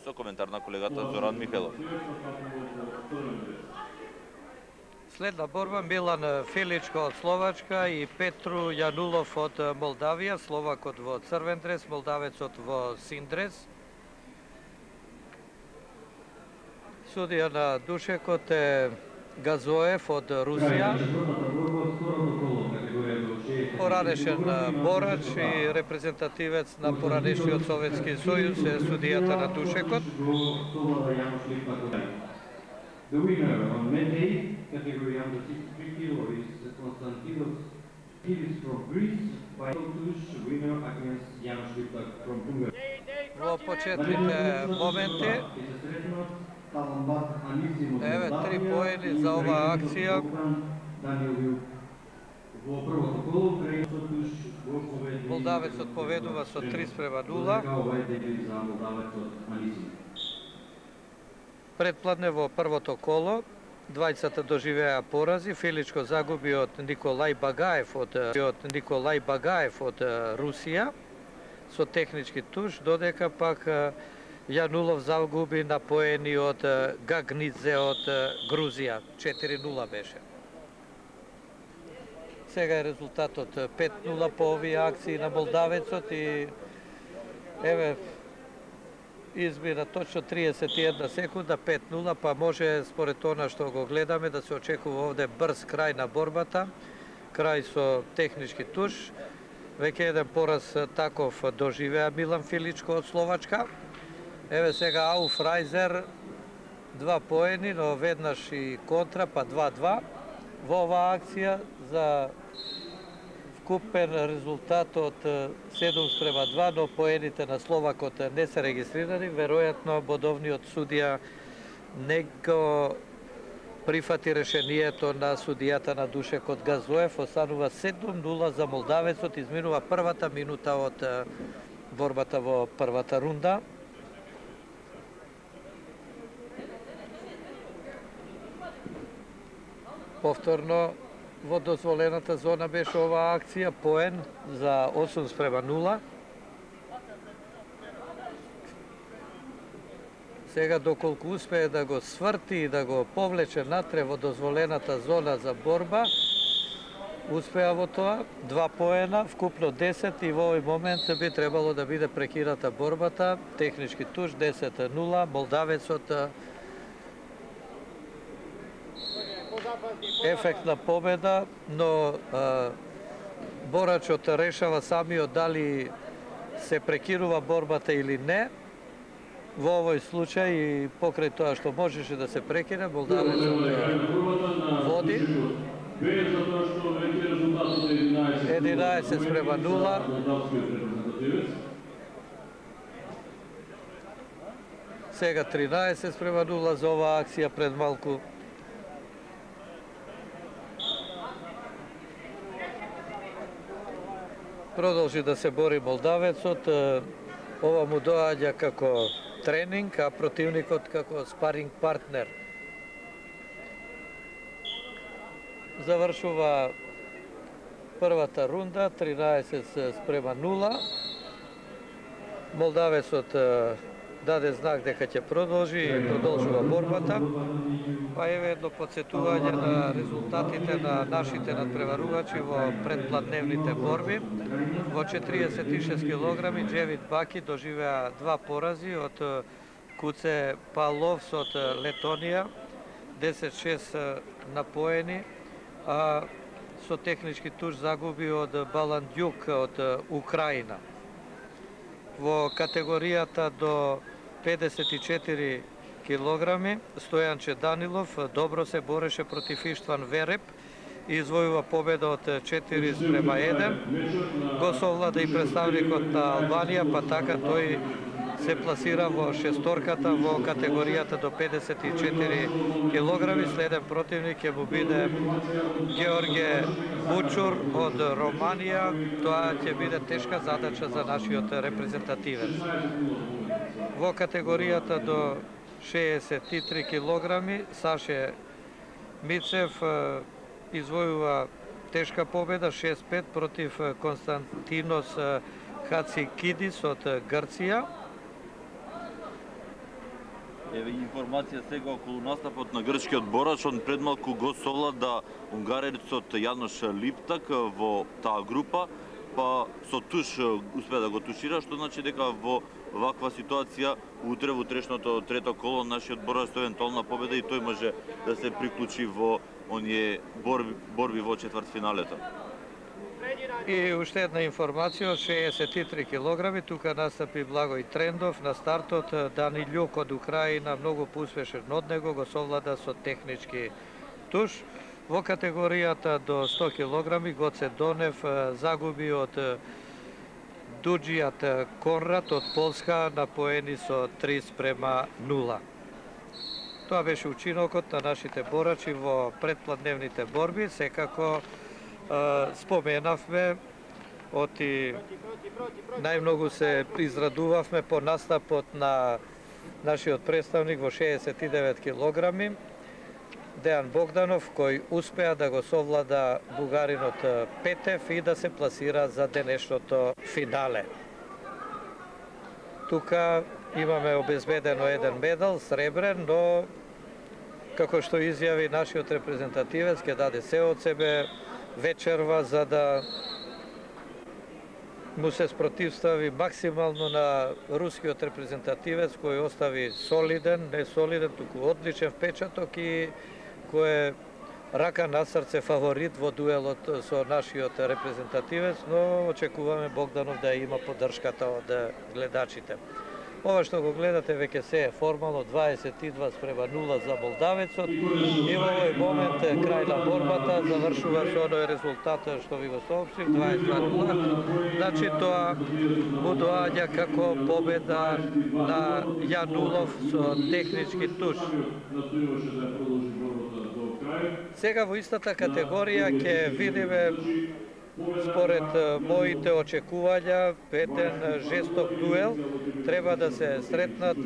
Со коментар на колегата Зоран Михајлов. Следна борба Милан Филичко од Словачка и Петру Јанулов од Молдавија, словакот во црвен дрес, молдавецот во син дрес. Судија на душекот е Газоев од Русија. Поранешен борач и репрезентативец на поранешниот Советски сојуз е судијата на душекот. The winner on May 8, category under 63 kg is Konstantinos Kilis from Greece, by Tush, winner against Jan Šlipak from Hungary. Во почетните моменти, еве 3 поени за оваа акција. Молдавецот поведува со 3:0. Предпладне во првото коло, двајцата доживеа порази. Филичко загуби од Николај Багаев од Русија со технички туш, додека пак Јанулов загуби на поени од Гагнидзе од Грузија. 4:0 беше. Сега е резултатот 5:0 по овие акции на молдавецот и еве измина точно 31 секунда, 5:0, па може според она што го гледаме да се очекува овде брз крај на борбата, крај со технички туш. Веќе еден пораз таков доживеа Милан Филичко од Словачка. Еве сега Ауф Райзер, 2 поени, но веднаш и контра, па 2:2 во оваа акција за вкупен резултат од 7:2, но поените на словакот не се регистрирани. Веројатно бодовниот судија не го прифати решението на судијата на душекот Газоев. Останува 7:0 за молдавецот, изминува првата минута од борбата во првата рунда. Повторно во дозволената зона беше оваа акција, поен за 8:0. Сега доколку успее да го сврти и да го повлече натре во дозволената зона за борба, успеа во тоа, 2 поена, вкупно 10 и во овој момент би требало да биде прекината борбата. Технички туш 10:0, молдавецот ефектна победа, но борачот решава самиот дали се прекинува борбата или не. Во овој случај и покрај тоа што можеше да се прекине, молдавецот води 11:0. Сега 13:0 за оваа акција пред малку. Продолжи да се бори молдавецот. Ова му доаѓа како тренинг, а противникот како спаринг партнер. Завршува првата рунда, 13:0. Молдавецот даде знак дека ќе продолжи и продолжува борбата. Па еве едно подсетување на резултатите на нашите надпреварувачи во предпладневните борби. Во 46 килограми Джевит Баки доживеа 2 порази од Куце Паловс од Летонија, 10:6 на поени, а со технички туш загуби од Баландјук од Украина. Во категоријата до 54 килограми Стојанче Данилов добро се бореше против Иштван Вереп и извојува победа од 4:1. Го совлада и представникот на Албанија, па така тој се пласира во шесторката во категоријата до 54 килограми. Следен противник ќе му биде Георге Бучур од Романија. Тоа ќе биде тешка задача за нашиот репрезентативец. Во категоријата до 63 килограми Саше Мицев извојува тешка победа 6:5 против Константинос Хацикидис од Грција. Еве информација сега околу настапот на грчкиот борач, он предмалку го совлада унгарецот Јанош Липтак во таа група, па со туш успеа да го тушира, што значи дека во ваква ситуација утре во утрешното трето коло нашиот борач со евентуална победа и тој може да се приклучи во оние борби во четвртфиналето. И уште една информација од 63 килограми, тука настапи Благој Трендов на стартот, Дани Љук од Украина, многу поуспешен од него, го совлада со технички туш. Во категоријата до 100 килограми Гоце Донев загуби од Дуџијат Конрад од Полска на поени со 3:0. Тоа беше учинокот на нашите борачи во предпладневните борби. Секако споменавме, оти најмногу се израдувавме по настапот на нашиот представник во 69 килограми, Дејан Богданов, кој успеа да го совлада бугаринот Петев и да се пласира за денешното финале. Тука имаме обезбедено еден медал, сребрен, но како што изјави нашиот репрезентативец, ќе даде се од себе вечерва за да му се спротивстави максимално на рускиот репрезентативец кој остави солиден, не солиден, туку одличен впечаток и кој е рака на срце фаворит во дуелот со нашиот репрезентативец, но очекуваме Богданов да има поддршката од гледачите. Ова што го гледате веќе се е формално 22:0 за молдавецот и во овој момент крај на борбата завршува со оној резултат што ви го соопштив 22:0. Значи тоа му доаѓа како победа на Јанулов со технички туш. Сега во истата категорија ќе видиме според моите очекувања еден жесток дуел. Треба да се сретнат